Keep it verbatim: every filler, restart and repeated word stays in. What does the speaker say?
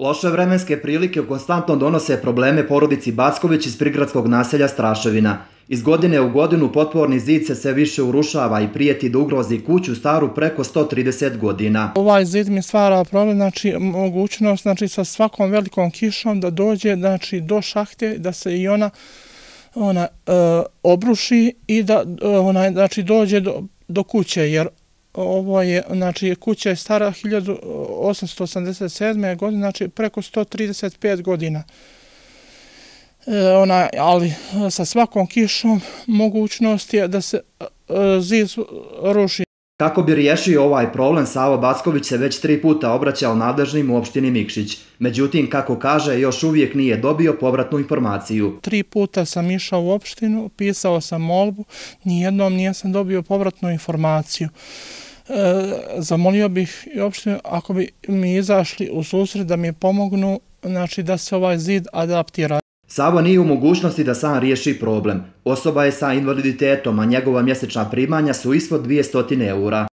Loše vremenske prilike konstantno donose probleme porodici Backović iz prigradskog naselja Straševina. Iz godine u godinu potporni zid se sve više urušava i prijeti da ugrozi kuću staru preko sto trideset godina. Ovaj zid mi stvara problem, znači mogućnost znači, sa svakom velikom kišom da dođe znači, do šahte, da se i ona, ona e, obruši i da ona, znači, dođe do, do kuće, jer ovo je, znači, kuća je stara hiljadu osamsto osamdeset sedme. godine, znači preko sto trideset pet godina. E, ona, ali sa svakom kišom mogućnost je da se e, zid ruši. Kako bi riješio ovaj problem, Savo Backović se već tri puta obraćao nadležnim u opštini Mikšić. Međutim, kako kaže, još uvijek nije dobio povratnu informaciju. Tri puta sam išao u opštinu, pisao sam molbu, nijednom nisam dobio povratnu informaciju. E, zamolio bih i opštinu ako bi mi izašli u susret da mi pomognu, znači da se ovaj zid adaptira. Savo nije u mogućnosti da sam riješi problem. Osoba je sa invaliditetom, a njegova mjesečna primanja su ispod dvjesto eura.